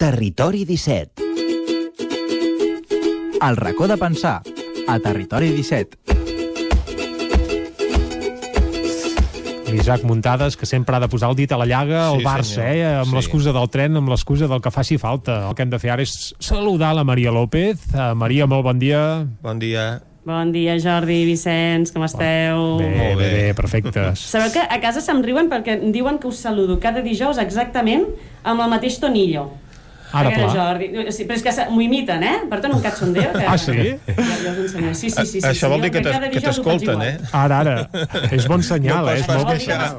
Territori 17. El racó de pensar, a Territori 17. L'Isaac Muntades, que sempre ha de posar el dit a la llaga al Barça, amb l'excusa del tren, amb l'excusa del que faci falta. El que hem de fer ara és saludar la Maria López. Maria, molt bon dia. Bon dia. Bon dia, Jordi, Vicenç, com esteu? Bé, perfecte. Sabeu que a casa se'm riuen perquè em diuen que us saludo cada dijous exactament amb el mateix tonillo. Ara, clar. Jordi, sí, però és que m'ho imiten, Per tant, un cachondeo. Ah, sí? Jo us ensenyo. Sí. Això vol dir que t'escolten, Ara. És bon senyal, és molt bon senyal.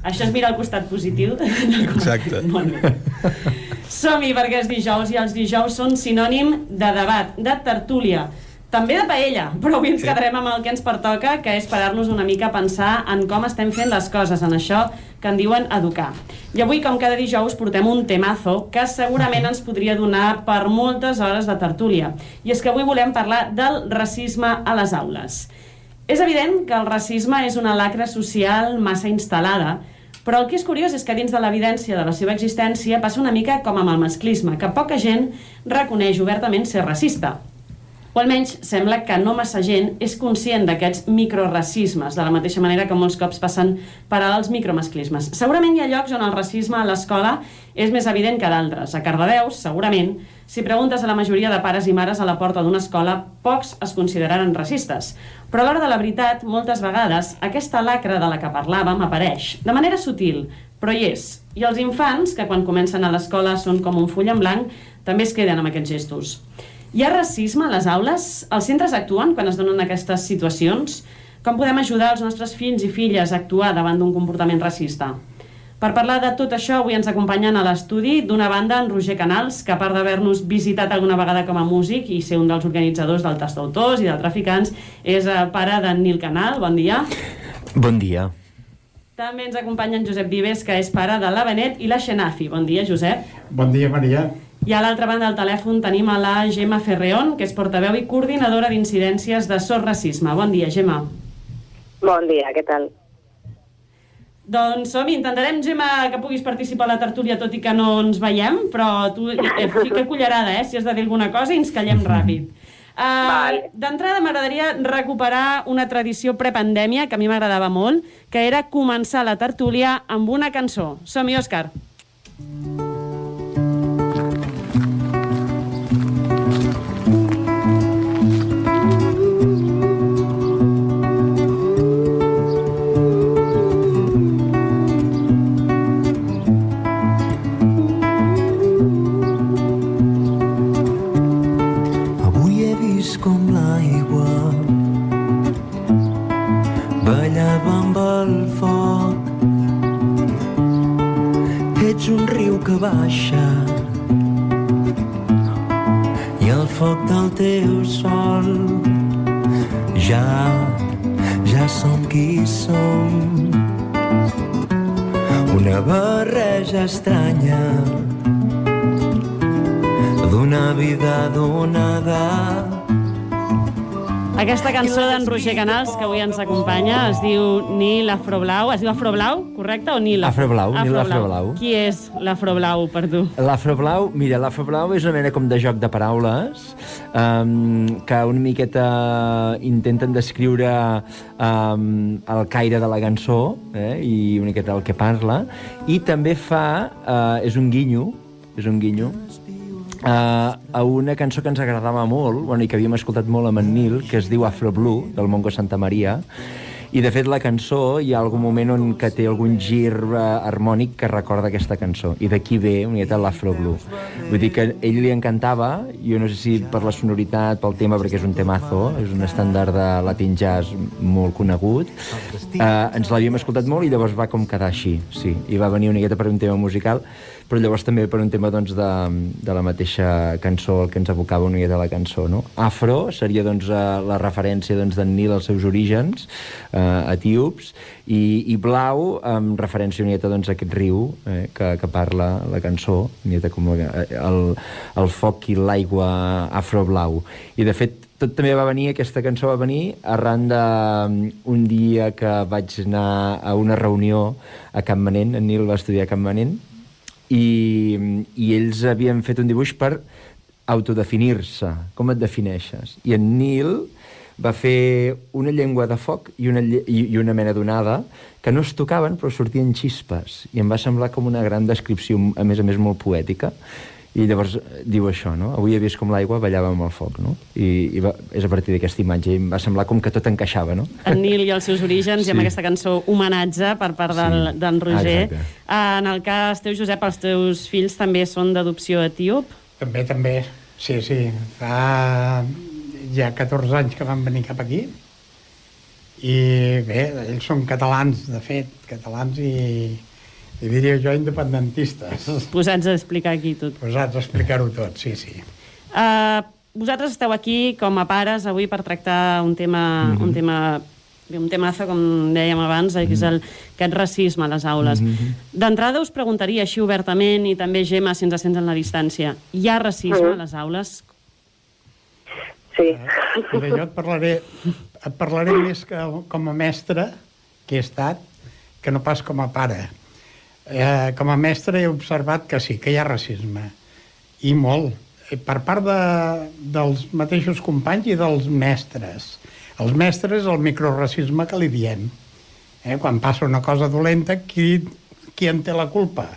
Això és mirar el costat positiu. Exacte. Som-hi, perquè és dijous, i els dijous són sinònim de debat, de tertúlia, també de paella, però avui ens quedarem amb el que ens pertoca, que és parar-nos una mica a pensar en com estem fent les coses, en això que en diuen educar. I avui, com cada dijous, portem un temazo que segurament ens podria donar per moltes hores de tertúlia. I és que avui volem parlar del racisme a les aules. És evident que el racisme és una lacra social massa instal·lada, però el que és curiós és que dins de l'evidència de la seva existència passa una mica com amb el masclisme, que poca gent reconeix obertament ser racista. O almenys sembla que no massa gent és conscient d'aquests microracismes, de la mateixa manera que molts cops passen per als micromasclismes. Segurament hi ha llocs on el racisme a l'escola és més evident que d'altres. A Cardedeu, segurament, si preguntes a la majoria de pares i mares a la porta d'una escola, pocs es consideraran racistes. Però a l'hora de la veritat, moltes vegades, aquesta lacra de la que parlàvem apareix, de manera sutil, però hi és. I els infants, que quan comencen a l'escola són com un full en blanc, també es queden amb aquests gestos. Hi ha racisme a les aules? Els centres actuen quan es donen aquestes situacions? Com podem ajudar els nostres fills i filles a actuar davant d'un comportament racista? Per parlar de tot això, avui ens acompanyen a l'estudi, d'una banda, en Roger Canals, que a part d'haver-nos visitat alguna vegada com a músic i ser un dels organitzadors del Tas d'Autors i de Traficants, és pare d'en Nil Canal. Bon dia. Bon dia. També ens acompanya en Josep Vives, que és pare de la Benet i la Xenafi. Bon dia, Josep. Bon dia, Maria. I a l'altra banda del telèfon tenim a la Gemma Ferreón, que és portaveu i coordinadora d'incidències de SOS Racisme. Bon dia, Gemma. Bon dia, què tal? Doncs som-hi, intentarem, Gemma, que puguis participar a la tertúlia, tot i que no ens veiem, però tu fica cullerada, si has de dir alguna cosa i ens callem ràpid. D'entrada m'agradaria recuperar una tradició prepandèmia que a mi m'agradava molt, que era començar la tertúlia amb una cançó. Som-hi, Òscar. Un riu que baixa i el foc del teu sol ja som qui som, una barreja estranya d'una vida donada. Aquesta cançó d'en Roger Canals, que avui ens acompanya, es diu Nil Afroblau. Es diu Afroblau, correcte? O Nil Afroblau, Nil Afroblau. Qui és l'Afroblau, per tu? L'Afroblau, mira, l'Afroblau és una mena com de joc de paraules que una miqueta intenten descriure el caire de la cançó i una miqueta el que parla, i també és un guinyo a una cançó que ens agradava molt, i que havíem escoltat molt amb en Nil, que es diu Afro Blue, del Mongo Santa Maria, i de fet la cançó hi ha algun moment on que té algun gir harmònic que recorda aquesta cançó, i d'aquí ve una miqueta l'Afro Blue. Vull dir que a ell li encantava, jo no sé si per la sonoritat, pel tema, perquè és un temazo, és un estàndard de Latin Jazz molt conegut, ens l'havíem escoltat molt i llavors va com quedar així, sí, i va venir una miqueta per un tema musical, però llavors també per un tema doncs, de la mateixa cançó, el que ens evocava una miqueta la cançó, no? Afro seria doncs, la referència d'en Nil als seus orígens etíops, i blau amb referència una miqueta doncs, a aquest riu que parla la cançó, una miqueta com el foc i l'aigua afroblau. I de fet tot també va venir, aquesta cançó va venir arran d'un dia que vaig anar a una reunió a Campmanent, en Nil va estudiar a Campmanent, i ells havien fet un dibuix per autodefinir-se. Com et defineixes? I en Nil va fer una llengua de foc i una mena d'onada que no es tocaven però sortien xispes, i em va semblar com una gran descripció, a més molt poètica. I llavors diu això, no? Avui he vist com l'aigua ballava amb el foc, no? I és a partir d'aquesta imatge, i em va semblar com que tot encaixava, no? En Nil i els seus orígens, i amb aquesta cançó homenatge per part d'en Roger. En el cas teu, Josep, els teus fills també són d'adopció etíop? També, sí. Fa ja 14 anys que van venir cap aquí, i bé, ells són catalans, de fet, catalans i diria jo independentistes. Posats a explicar aquí tot. Posats a explicar-ho tot, sí. Vosaltres esteu aquí com a pares avui per tractar un temazo, com dèiem abans, que és aquest racisme a les aules. D'entrada us preguntaria així obertament, i també Gemma, si ens sents en la distància, hi ha racisme a les aules? Sí. Jo et parlaré més que com a mestre que he estat, que no pas com a pare. Com a mestre he observat que sí, que hi ha racisme, i molt, per part dels mateixos companys i dels mestres. Els mestres, el microracisme que li diem. Quan passa una cosa dolenta, qui en té la culpa?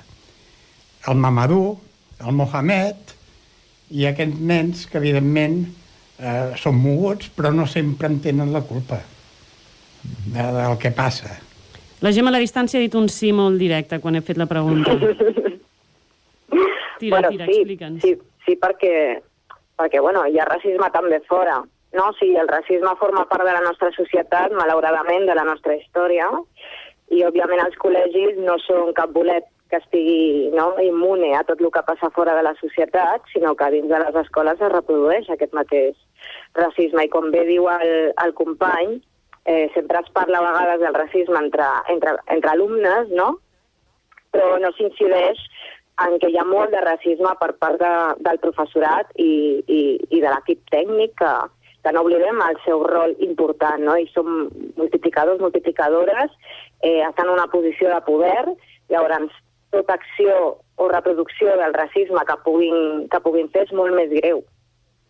El Mamadou, el Mohamed, i aquests nens que, evidentment, són moguts, però no sempre en tenen la culpa del que passa. La Gemma a la distància ha dit un sí molt directe quan he fet la pregunta. Tira, explica'ns. Sí, perquè bueno, hi ha racisme també fora, no? O sigui, el racisme forma part de la nostra societat, malauradament, de la nostra història, i òbviament els col·legis no són cap bolet que estigui immune a tot el que passa fora de la societat, sinó que dins de les escoles es reprodueix aquest mateix racisme. I com bé diu el company, sempre es parla a vegades del racisme entre alumnes, no? Però no s'incideix en què hi ha molt de racisme per part del professorat i de l'equip tècnic, que no oblidem el seu rol important, no? I som multiplicadors, multiplicadores, estan en una posició de poder, llavors tota acció o reproducció del racisme que puguin fer és molt més greu,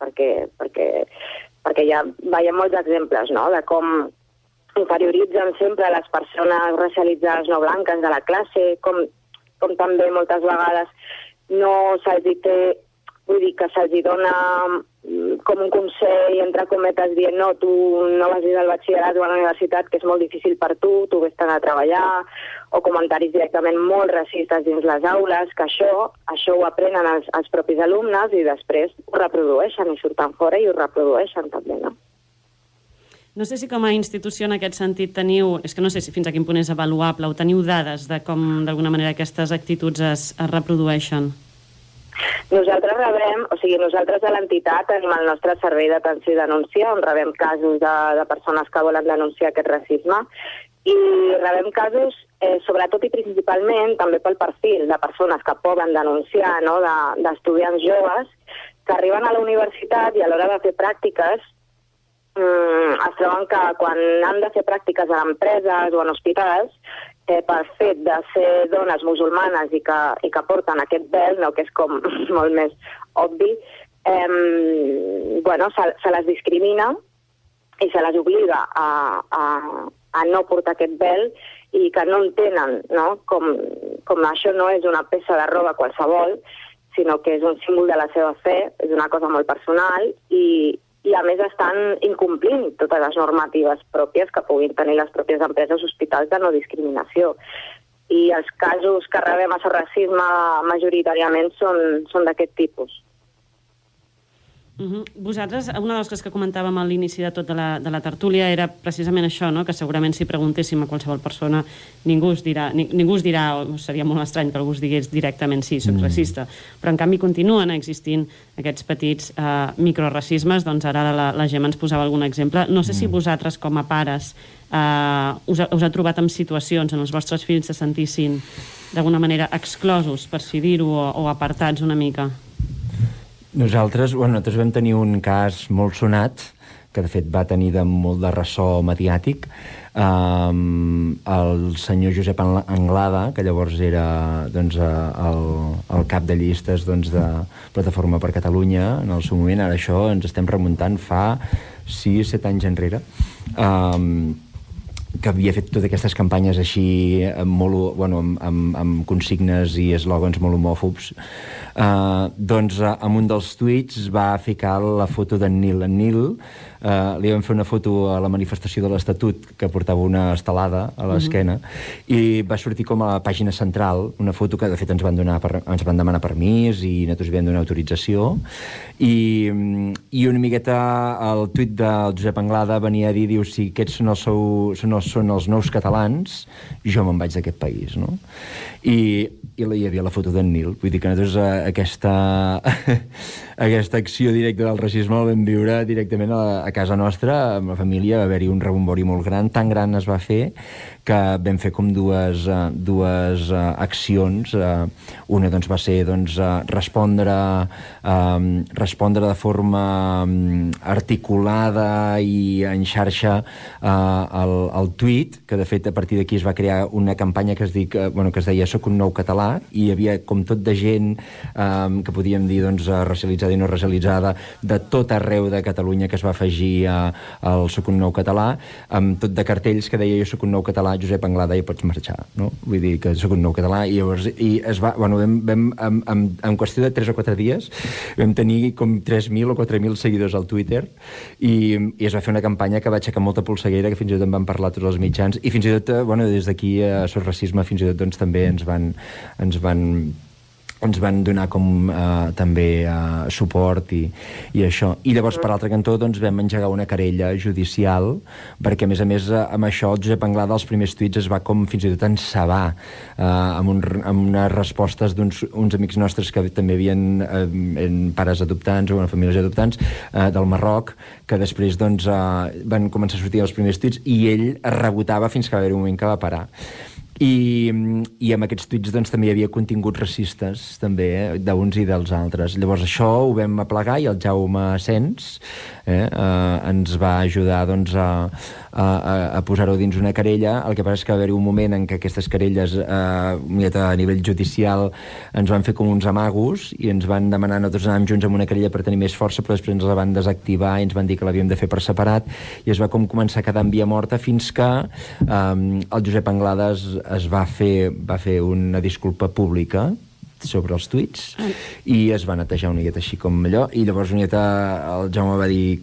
perquè ja veiem molts exemples, no?, de com inferioritzen sempre les persones racialitzades no blanques de la classe, com també moltes vegades no se'ls té, vull dir que se'ls dona com un consell, entre cometes, dient no, tu no vagis al batxillerat o a la universitat, que és molt difícil per tu vés-te'n a treballar, o comentaris directament molt racistes dins les aules, que això ho aprenen els propis alumnes i després ho reprodueixen i surten fora i ho reprodueixen també, no? No sé si com a institució en aquest sentit teniu, és que no sé si fins a quin punt és avaluable, o teniu dades de com d'alguna manera aquestes actituds es reprodueixen. Nosaltres a l'entitat tenim el nostre servei d'atenció i denúncia, on rebem casos de persones que volen denunciar aquest racisme, i rebem casos, sobretot i principalment, també pel perfil de persones que poden denunciar, no?, d'estudiants joves que arriben a la universitat i a l'hora de fer pràctiques es troben que quan han de fer pràctiques a empreses o en hospitals, per fet de ser dones musulmanes i que porten aquest vel, no, que és com molt més obvi, se les discrimina i se les obliga a no portar aquest vel, i que no entenen, no?, com això no és una peça de roba qualsevol, sinó que és un símbol de la seva fe, és una cosa molt personal, i a més estan incomplint totes les normatives pròpies que puguin tenir les pròpies empreses o hospitals de no discriminació. I els casos que rebem a racisme majoritàriament són d'aquest tipus. Vosaltres, una de les coses que comentàvem a l'inici de tot de la tertúlia era precisament això, no?, que segurament si preguntéssim a qualsevol persona ningú us dirà, o seria molt estrany que algú us digués directament sí, soc racista, però en canvi continuen existint aquests petits microracismes. Doncs ara la Gemma ens posava algun exemple. No sé si vosaltres com a pares us ha trobat en situacions en els vostres fills se sentissin d'alguna manera exclosos, per si dir-ho, o apartats una mica. Nosaltres vam tenir un cas molt sonat, que de fet va tenir molt de ressò mediàtic, el senyor Josep Anglada, que llavors era doncs, el cap de llistes doncs, de Plataforma per Catalunya en el seu moment. Ara això ens estem remuntant fa 6-7 anys enrere, que havia fet totes aquestes campanyes així amb consignes i eslògans molt homòfobs. Doncs amb un dels tuits va ficar la foto d'en Nil. En Nil li vam fer una foto a la manifestació de l'Estatut, que portava una estelada a l'esquena, i va sortir com a la pàgina central, una foto que de fet ens van demanar permís i nosaltres vam donar autorització, i una miqueta el tuit del Josep Anglada venia a dir, diu, si aquests són els nous catalans, jo me'n vaig d'aquest país, no? I hi havia la foto d'en Nil. Vull dir que nosaltres aquesta acció directa del racisme la vam viure directament a casa nostra, amb la família. Va haver-hi un rebombori molt gran, tan gran es va fer que vam fer com dues accions. Una doncs, va ser respondre de forma articulada i en xarxa al tuit, que de fet a partir d'aquí es va crear una campanya que es deia Soc un nou català, i hi havia com tot de gent que podíem dir racialitzada i no racialitzada de tot arreu de Catalunya, que es va afegir al Soc un nou català, amb tot de cartells que deia jo soc un nou català, Josep Anglada, i pots marxar, no? Vull dir que soc un nou català, i llavors en qüestió de 3 o 4 dies vam tenir com 3.000 o 4.000 seguidors al Twitter, i es va fer una campanya que va aixecar molta polseguera, que fins i tot en van parlar tots els mitjans, i fins i tot, des d'aquí a Sos Racisme fins i tot també ens van donar com també suport i això. I llavors, per l'altre cantó, vam engegar una querella judicial, perquè, a més, amb això, el Josep Anglada, als primers tuits, es va com fins i tot encebar amb unes respostes d'uns amics nostres que també havien pares adoptants o famílies adoptants del Marroc, que després van començar a sortir els primers tuits, i ell es rebotava fins que va haver un moment que va parar. I amb aquests tuits també hi havia continguts racistes també, d'uns i dels altres. Llavors això ho vam aplegar, i el Jaume Sens ens va ajudar a posar-ho dins una querella. El que passa és que va haver-hi un moment en què aquestes querelles a nivell judicial ens van fer com uns amagos i ens van demanar, nosaltres anàvem junts amb una querella per tenir més força, però després ens la van desactivar i ens van dir que l'havíem de fer per separat, i es va com començar a quedar en via morta, fins que el Josep Anglada es va fer una disculpa pública sobre els tuits i es va netejar una miqueta així com allò, i llavors una miqueta el Jaume va dir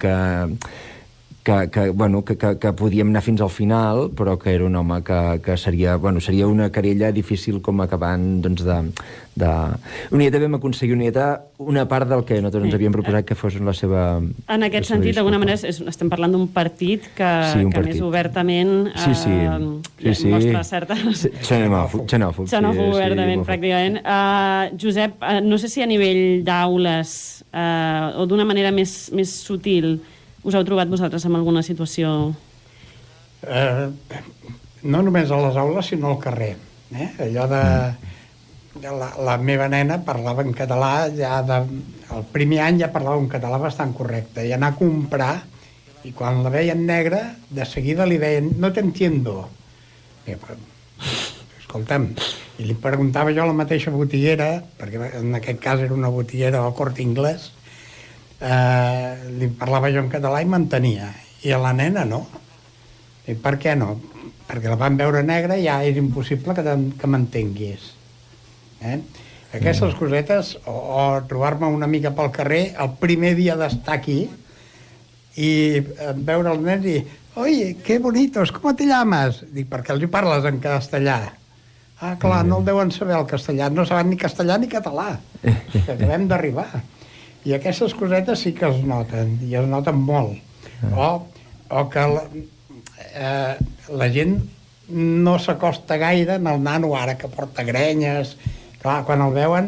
que podíem anar fins al final, però que era un home que seria una querella difícil com acabant una miqueta vam aconseguir una part del que nosaltres ens havíem proposat que fos la seva... En aquest sentit, d'alguna manera, estem parlant d'un partit que més obertament mostra certa... Xenòfob, obertament, pràcticament. Josep, no sé si a nivell d'aules o d'una manera més sutil us heu trobat vosaltres en alguna situació? No només a les aules, sinó al carrer. Allò de... La meva nena parlava en català, el primer any ja parlava un català bastant correcte, i anar a comprar, i quan la veien negra, de seguida li deien, no t'entiendo. Escolta'm, i li preguntava jo a la mateixa botiguera, perquè en aquest cas era una botiguera del Corte Inglés, li parlava jo en català i m'entenia, i a la nena no. I per què no? Perquè la van veure negra i ja és impossible que m'entenguis. Aquestes cosetes, o trobar-me una mica pel carrer el primer dia d'estar aquí i veure el nen i oye, qué bonitos, ¿cómo te llamas? Dic, perquè els hi parles en castellà. Ah, clar, no el deuen saber el castellà, no saben ni castellà ni català, que acabem d'arribar. I aquestes cosetes sí que es noten, i es noten molt. O que la gent no s'acosta gaire en el nano ara que porta grenyes. Clar, quan el veuen,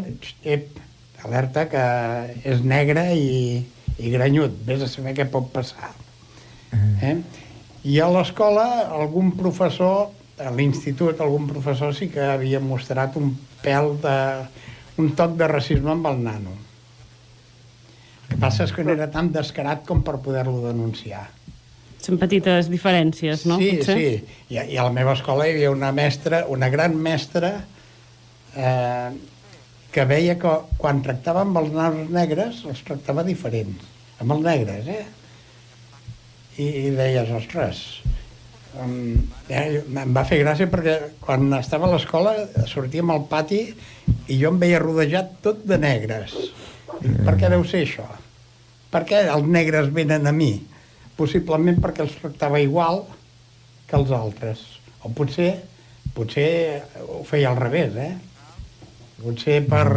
alerta que és negre i grenyut, vés a saber què pot passar. I a l'escola, algun professor, a l'institut, algun professor sí que havia mostrat un toc de racisme amb el nano. El que passa és que no era tan descarat com per poder-lo denunciar. Són petites diferències, no? Sí, potser? sí. I a la meva escola hi havia una mestra, una gran mestra, que veia que quan tractava amb els nanos negres els tractava diferents, amb els negres, I deies, ostres, em va fer gràcia perquè quan estava a l'escola sortíem al pati i jo em veia rodejat tot de negres. Dic, per què deu ser això? Per què els negres venen a mi? Possiblement perquè els tractava igual que els altres. O potser ho feia al revés, Potser per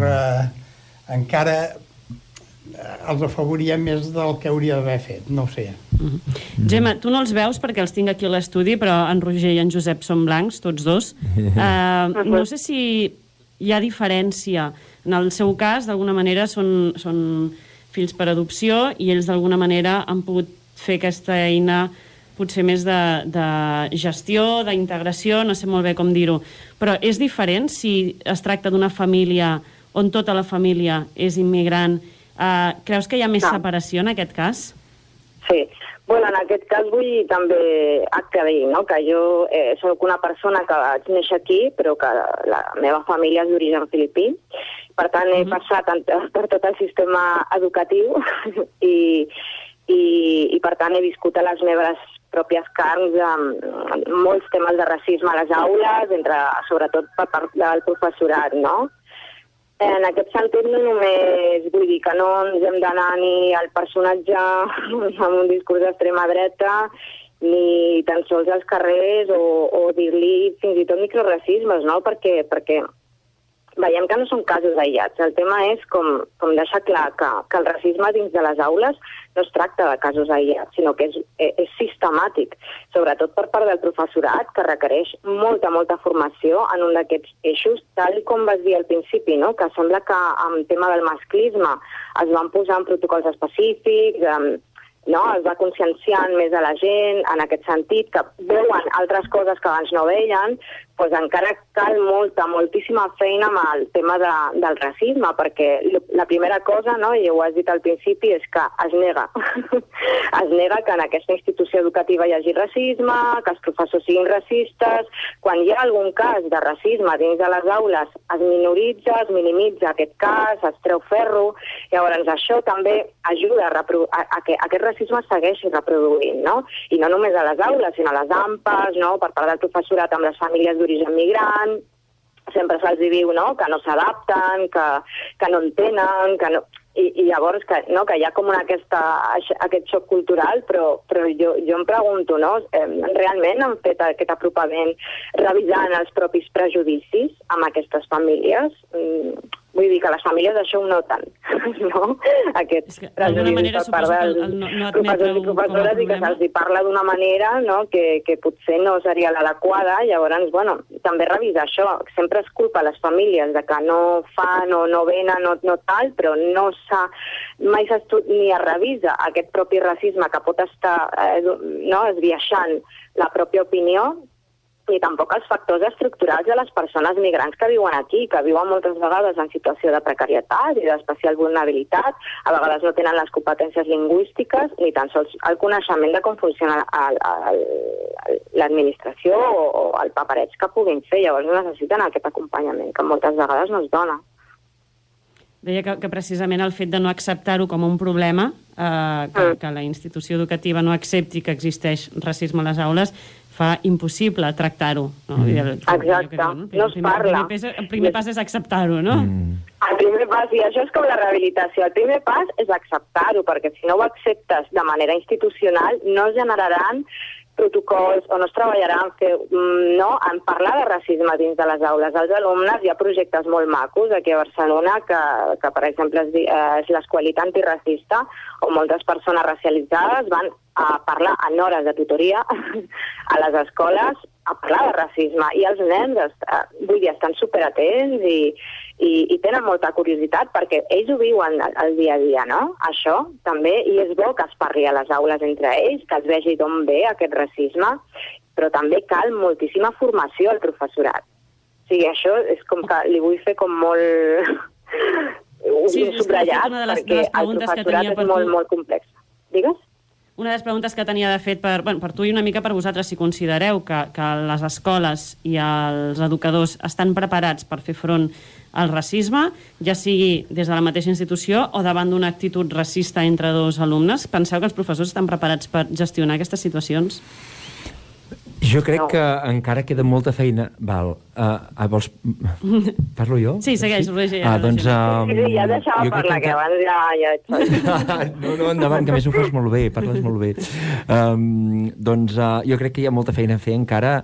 encara els afavoria més del que hauria d'haver fet, no ho sé. Gemma, tu no els veus perquè els tinc aquí a l'estudi, però en Roger i en Josep són blancs, tots dos. No sé si hi ha diferència. En el seu cas, d'alguna manera, són fills per adopció i ells d'alguna manera han pogut fer aquesta eina potser més de gestió, d'integració, no sé molt bé com dir-ho. Però és diferent si es tracta d'una família on tota la família és immigrant. Creus que hi ha més separació en aquest cas? Sí. Bueno, en aquest cas vull també aclarir, no?, que jo soc una persona que vaig néixer aquí, però que la meva família és d'origen filipí. Per tant, he passat per tot el sistema educatiu i per tant he viscut a les meves pròpies carns molts temes de racisme a les aules, sobretot per part del professorat, no? En aquest sentit, no només vull dir que no ens hem d'anar ni al personatge amb un discurs d'extrema dreta, ni tan sols als carrers o dir-li fins i tot microracismes, no? Perquè veiem que no són casos aïllats. El tema és com deixar clar que el racisme dins de les aules no es tracta de casos aïllats, sinó que és sistemàtic, sobretot per part del professorat, que requereix molta formació en un d'aquests eixos, tal com vas dir al principi, no?, que sembla que amb el tema del masclisme es van posar en protocols específics, no? Es va conscienciant més a la gent en aquest sentit, que veuen altres coses que abans no veien, doncs encara cal moltíssima feina amb el tema del racisme, perquè la primera cosa, no?, i ho has dit al principi, és que es nega. Es nega que en aquesta institució educativa hi hagi racisme, que els professors siguin racistes. Quan hi ha algun cas de racisme dins de les aules, es minoritza, es minimitza aquest cas, es treu ferro. Llavors això també ajuda a que aquest racisme segueixi reproduint, no? I no només a les aules, sinó a les AMPAs, no?, per part del professorat amb les famílies d'origen migrant, sempre se'ls diu, no?, que no s'adapten, que no entenen, que no... I llavors que hi ha com aquest xoc cultural, però jo em pregunto, no?, realment han fet aquest apropament revisant els propis prejudicis amb aquestes famílies? Vull dir que les famílies això ho noten, no? Aquests prejudicis per part dels professors i professores i que se'ls parla d'una manera, no?, que potser no seria l'adequada. Llavors, bueno, també revisar això. Sempre es culpa a les famílies de que no fan o no venen o no tal, però mai ni es revisa aquest propi racisme que pot estar esbiaixant la pròpia opinió, ni tampoc els factors estructurals de les persones migrants que viuen aquí, que viuen moltes vegades en situació de precarietat i d'especial vulnerabilitat, a vegades no tenen les competències lingüístiques ni tan sols el coneixement de com funciona l'administració o el papereig que puguin fer. Llavors necessiten aquest acompanyament que moltes vegades no es dona. Deia que precisament el fet de no acceptar-ho com un problema, que la institució educativa no accepti que existeix racisme a les aules, fa impossible tractar-ho. No? Exacte, no es parla. El primer pas és acceptar-ho, no? El primer pas, i això és com la rehabilitació, el primer pas és acceptar-ho, perquè si no ho acceptes de manera institucional no es generaran protocols o no es treballarà en parlar de racisme dins de les aules. Als alumnes hi ha projectes molt macos aquí a Barcelona que per exemple, és l'Escola Antiracista, on moltes persones racialitzades van a parlar en hores de tutoria a les escoles a parlar de racisme, i els nens estan superatents i tenen molta curiositat perquè ells ho viuen el dia a dia, no? Això també, i és bo que es parli a les aules entre ells, que es vegi d'on ve aquest racisme, però també cal moltíssima formació al professorat. O sigui, això és com que li vull fer com molt subratllat, perquè el professorat és molt complex. Digues? una de les preguntes que tenia de fet per tu i una mica per vosaltres, si considereu que les escoles i els educadors estan preparats per fer front al racisme, ja sigui des de la mateixa institució o davant d'una actitud racista entre dos alumnes. Penseu que els professors estan preparats per gestionar aquestes situacions? Jo crec que encara queda molta feina. Vols... Parlo jo? Sí, segueix, Roger. Doncs... Sí, ja deixava parlar, que abans ja... No, endavant, que més ho fas molt bé, parles molt bé. Doncs jo crec que hi ha molta feina a fer encara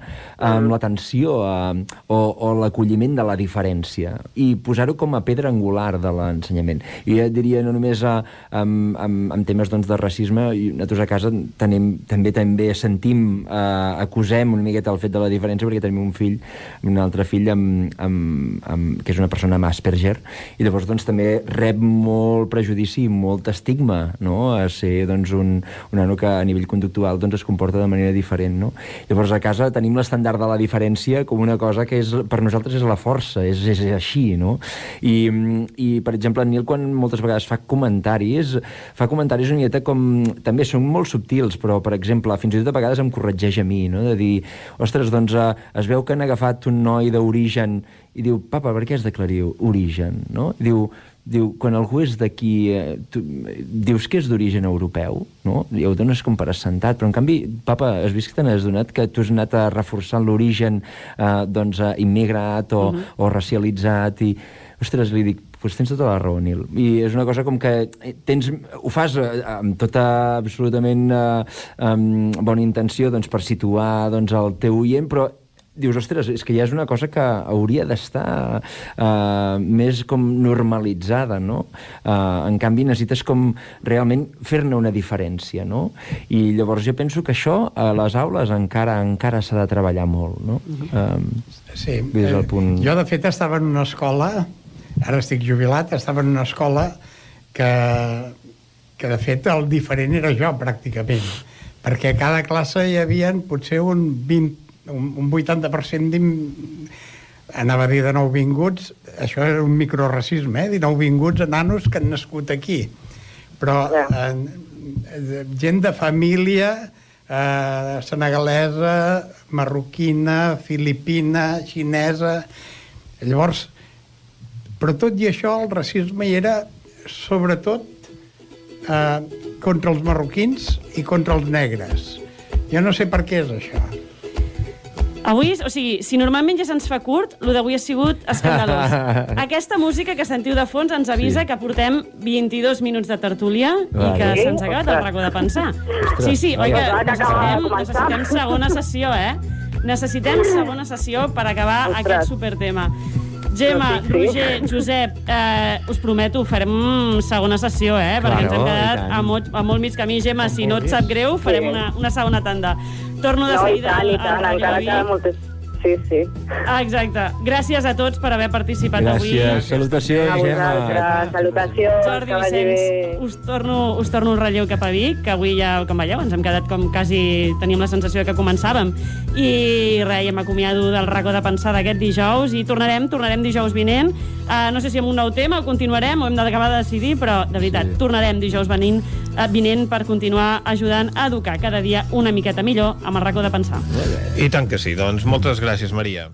amb l'atenció o l'acolliment de la diferència i posar-ho com a pedra angular de l'ensenyament. I jo diria no només en temes de racisme, i nosaltres a casa també sentim, acusem una miqueta el fet de la diferència perquè tenim un altre fill que és una persona amb Asperger, i llavors també rep molt prejudici i molt estigma, no? A ser un nano que a nivell conductual es comporta de manera diferent, no? Llavors a casa tenim l'estàndard de la diferència com una cosa que per nosaltres és la força, és així, no? I per exemple, en Nil, quan moltes vegades fa comentaris una miqueta com... També són molt subtils, però, per exemple, fins i tot a vegades em corregeix a mi, no? De dir, ostres, es veu que han agafat un noi d'origen i diu, papa, per què has d'aclarir origen, no? Diu, quan algú és d'aquí, dius que és d'origen europeu, no? I ho dones com per assentat, però en canvi, papa, has vist que te n'has donat que tu has anat a reforçar l'origen immigrat o racialitzat i... Ostres, li dic, doncs tens tota la raó, Nil. I és una cosa com que ho fas amb tota absolutament bona intenció per situar el teu oient, però dius, ostres, és que ja és una cosa que hauria d'estar més com normalitzada, no? En canvi, necessites com realment fer-ne una diferència, no? I llavors jo penso que això a les aules encara s'ha de treballar molt, no? Sí, jo de fet estava en una escola, ara estic jubilat, estava en una escola que de fet el diferent era jo, pràcticament, perquè a cada classe hi havia potser un 80% anava a dir de nouvinguts, això era un microracisme, de nouvinguts nanos que han nascut aquí, però gent de família senegalesa, marroquina, filipina, xinesa. Llavors, però tot i això, el racisme hi era sobretot contra els marroquins i contra els negres. Jo no sé per què és això. Avui, o sigui, si normalment ja se'ns fa curt, el d'avui ha sigut escandalós. Aquesta música que sentiu de fons ens avisa que portem 22 minuts de tertúlia i que se'ns ha acabat el racó de pensar. Sí, oi que necessitem segona sessió, Necessitem segona sessió per acabar aquest supertema. Gemma, Roger, Josep, us prometo, farem segona sessió, perquè ens hem quedat a molt mig camí. Gemma, si no et sap greu, farem una segona tanda. Torno de seguida al Radiovi. Sí. Exacte. Gràcies a tots per haver participat avui. Gràcies. Salutacions, Gemma. Salutacions. Jordi Vicenç, us torno un relleu cap a Vic, que avui ja, com veieu, ens hem quedat com quasi teníem la sensació que començàvem. I res, ja m'acomiado del racó de pensar d'aquest dijous i tornarem dijous vinent. No sé si amb un nou tema o continuarem o hem d'acabar de decidir, però de veritat, tornarem dijous vinent per continuar ajudant a educar cada dia una miqueta millor amb el racó de pensar. I tant que sí, doncs moltes gràcies, Maria.